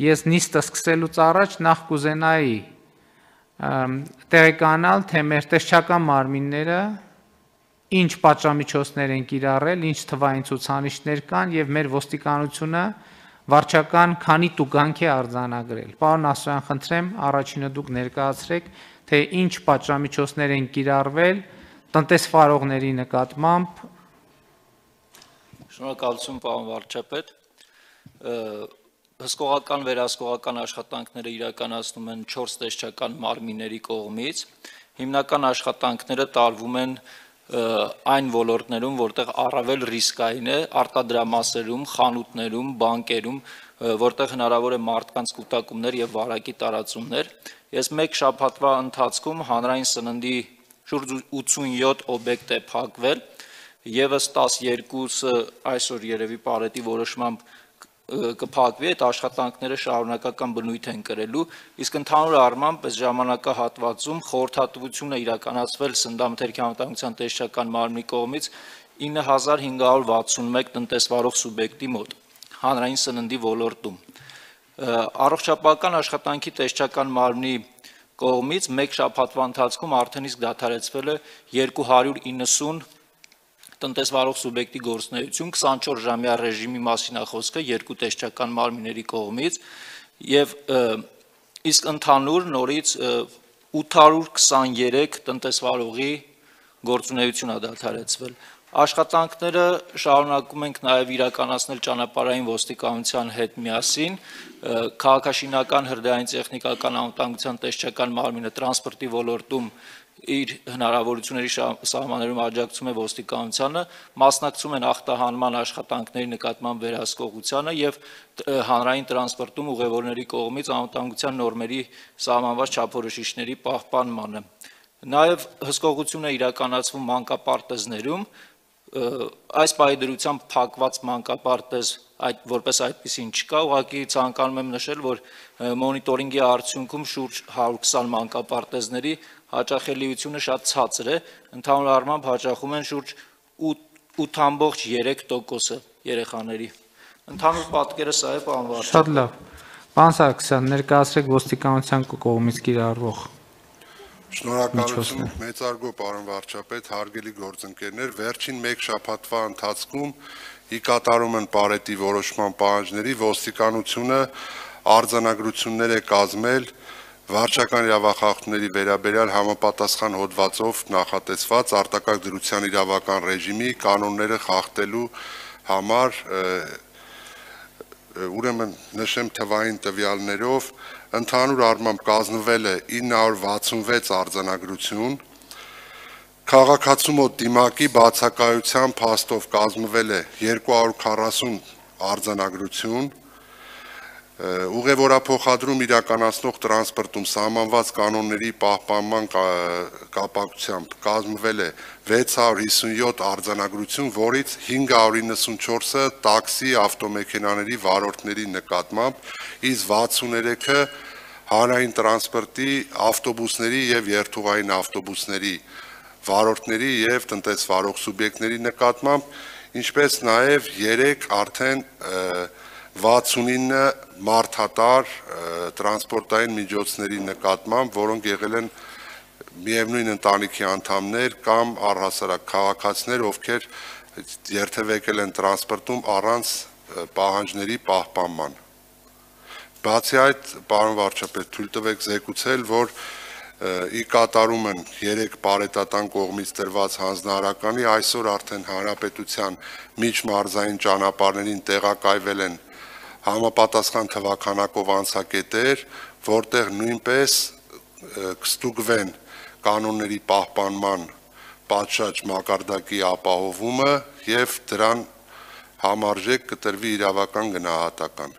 Ես նիստը սկսելուց առաջ նախ կուզենայի տեղեկանալ, թե մեր տեսչական մարմինները ինչ պատժամիջոցներ են կիրառել, ինչ թվային ցուցանիշներ կան եւ մեր ոստիկանությունը վարչական քանի տուգանք է արձանագրել։ Պարոն Ասրյան, խնդրեմ, առաջինը դուք ներկայացրեք, թե ինչ պատժամիջոցներ են կիրառվել տնտեսվարողների նկատմամբ։ Շնորհակալություն, պարոն վարչապետ։ Հսկողական վերահսկողական աշխատանքները իրականացնում են 4 տեսչական մարմինների կողմից։ Հիմնական աշխատանքները տարվում են այն ոլորտներում, որտեղ առավել ռիսկային է, արտադրամասերում, խանութներում, բանկերում, որտեղ հնարավոր է մարդկանց կուտակումներ եւ վարակի տարածումներ։ Ես մեկ շաբաթվա ընթացքում հանրային սննդի շուրջ 87 օբյեկտ է փակվել, եւս 12-ը այսօր երևի Պարետի որոշմամբ կփակվի, այդ աշխատանքները շարունակական բնույթ են կրելու, իսկ ընդհանուր առմամբ այս ժամանակահատվածում խորհրդատվություն է իրականացվել Սննդամթերքի անվտանգության տեսչական մարմնի կողմից 9561 տնտեսվարող սուբյեկտի մոտ հանրային սննդի ոլորտում։ Առողջապահական աշխատանքի տեսչական մարմնի կողմից մեկ շաբաթվա ընթացքում արդեն իսկ դադարեցվել է 290 տնտեսվարող սուբյեկտի գործունեություն, 24-ժամյա ռեժիմի մասին է խոսքը երկու տեսչական մարմինների կողմից եւ իսկ ընդհանուր նորից 823 տնտեսվարողի գործունեություն է դադարեցվել։ Աշխատանքները շարունակում ենք նաև իրականացնել ճանապարհային ոստիկանության հետ միասին, քաղաքաշինական հրդեհային տեխնիկական անվտանգության տեսչական մարմինը տրանսպորտի ոլորտում իր հնարավորությունների սահմաններում աջակցում է ոստիկանությանը, մասնակցում են ախտահանման աշխատանքների նկատմամբ վերահսկողությանը եւ հանրային տրանսպորտում ուղևորների կողմից անվտանգության նորմերի սահմանված չափորոշիչների պահպանմանը։ Նաեւ հսկողություն է իրականացվում մանկապարտեզներում, այս պահի դրությամբ փակված մանկապարտեզ որպես այդպեսին չկա, ուղղակի ցանկանում եմ նշել, որ մոնիտորինգի արդյունքում շուրջ 120 մանկապարտեզների հաճախելիությունը շատ ցածր է, ընդհանուր առմամբ հաճախում են շուրջ 8.3% երեխաների։ Ընդհանուր պատկերը սա է, պարոն վարչապետ։ Շատ լավ։ Պարոն Սարգսյան, ներկայացրեք ոստիկանության կողմից կիրառվող։ Շնորհակալություն, մեծարգո պարոն վարչապետ, հարգելի գործընկերներ, վերջին մեկ շաբաթվա ընթացքում ի կատարում են Պարետի որոշման պահանջների ոստիկանությունը արձանագրություններ է կազմել վարչական իրավախախտումների վերաբերյալ համապատասխան հոդվածով նախատեսված արտակարգ դրության իրավական ռեժիմի կանոնները խախտելու համար, ուրեմն նշեմ թվային տվյալներով, ընդհանուր առմամբ կազմվել է 966 արձանագրություն, քաղաքացու մոտ դիմակի բացակայության փաստով կազմվել է 240 արձանագրություն, ուղևորափոխադրում իրականացնող տրանսպորտում սահմանված կանոնների պահպանման կապակցությամբ կազմվել է 657 արձանագրություն, որից 594-ը տաքսի ավտոմեքենաների վարորդների նկատմամբ, իսկ 63-ը հանրային տրանսպորտի ավտոբուսների եւ երթուղային ավտոբուսների վարորդների եւ տնտեսվարող սուբյեկտների նկատմամբ, ինչպես նաեւ 3 արդեն 69 մարդատար տրանսպորտային միջոցների նկատմամբ, որոնք եղել են միևնույն ընտանիքի անդամներ կամ առհասարակ քաղաքացիներ, ովքեր երթևեկել են տրանսպորտում առանց պահանջների պահպանման։ Բացի այդ, պարոն վարչապետ, թույլ տվեք զեկուցել, որ ի կատարում են 3 պարետատան կողմից տրված հանձնարարականի, այսօր արդեն հանրապետության միջմարզային ճանապարհներին տեղակայվել են համապատասխան թվականակով անցակետեր, որտեղ նույնպես կստուգվեն կանոնների պահպանման պատշաճ մակարդակի ապահովումը եւ դրան համարժեք կտրվի իրավական գնահատական։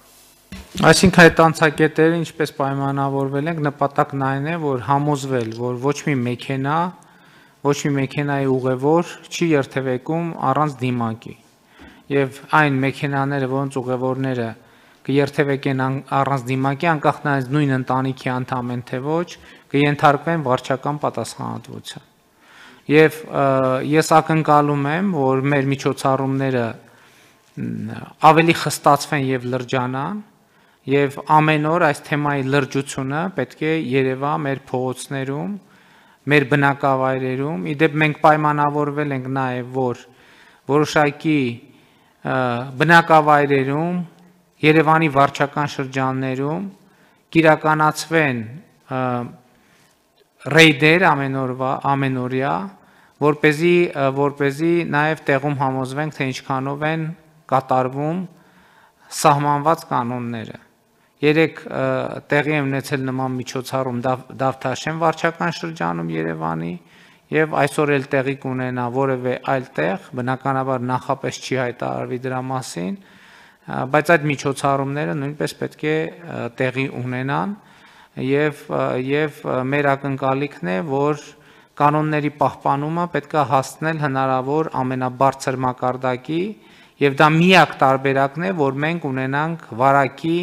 Այսինքն այդ անցակետերը ինչպես պայմանավորվել ենք, նպատակն այն է, որ համոզվել, որ ոչ մի մեքենայի ուղևոր չի երթևեկում առանց դիմակի։ Եվ այն մեքենաները, որոնց ուղևորները կերթևեկեն առանց դիմակի, անկախ նրանից նույն ընտանիքի անդամ են թե ոչ, կենթարկվեն վարչական պատասխանատվության։ Եվ ես ակնկալում եմ, որ մեր միջոցառումները ավելի խստացվեն եւ լրջանան եւ ամեն օր այս թեմայի լրջությունը պետք է երևա մեր փողոցներում, մեր բնակավայրերում։ Իդեպ մենք պայմանավորվել ենք նաեւ, որ որոշակի բնակավայրերում, Երևանի վարչական շրջաններում կիրականացվեն ռեյդեր ամենօրյա, որպեսզի նաև տեղում համոզվենք, թե ինչքանով են կատարվում սահմանված կանոնները։ Երեք տեղի է ունեցել նման միջոցառում Դավթաշեն վարչական շրջանում Երևանի եւ այսօր էլ տեղի կունենա որևէ այլ տեղ, բնականաբար նախապես չի հայտարարվի դրա մասին, բայց այդ միջոցառումները նույնպես պետք է տեղի ունենան եւ մեր ակնկալիքն է, որ կանոնների պահպանումը պետք է հասնել հնարավոր ամենաբարձր մակարդակի եւ դա միակ տարբերակն է, որ մենք ունենանք վարակի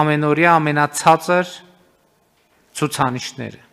ամենօրյա ամենացածր ցուցանիշները։